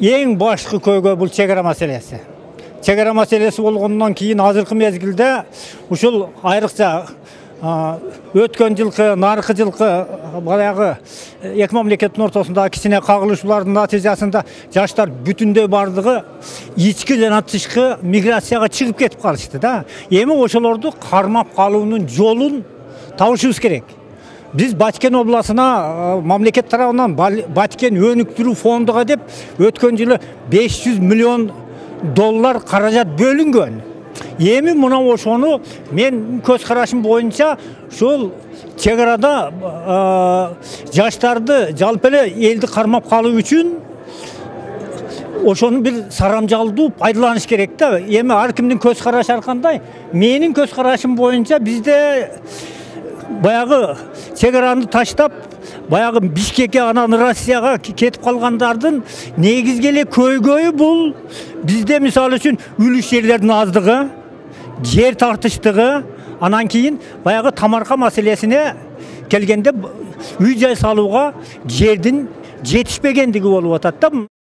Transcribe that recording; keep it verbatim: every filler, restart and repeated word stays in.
Эң башкы көйгөй бул чек ара маселеси. Чек ара маселеси болгондон кийин азыркы мезгилде ушул айрыкча өткөн жылкы, наркы жылкы баягы эки мамлекеттин ортосундагы кичине кагылышуулардын натыйжасында жаштар бүтүндөй бардыгы ички жана тышкы миграцияга чыгып кетип калышты да. Эми ошолорду кармап калуунун жолун табышыбыз керек. Биз Баткен областына мамлекет тарабынан Баткен өнүктүрүү фондуга деп өткөн жылы беш жүз миллион доллар каражат бөлүнгөн. Эми мына ошону мен көз карашым боюнча ушул чек арада жаштарды жалпы эле элди кармап калуу үчүн ошону бир сарамжалдуу пайдаланыш керек да. Эми ар кимдин көз карашы ар кандай. Менин көз карашым боюнча бизде баягы чек араны таштап, баягы Бишкекке анан Россияга кетип калгандардын негизги эле көйгөйү бул бизде мисалы үчүн үлүш жерлердин аздыгы, жер тартыштыгы, анан кийин баягы тамарка маселесине келгенде үй жай салууга жердин жетишпегендиги болуп атат да.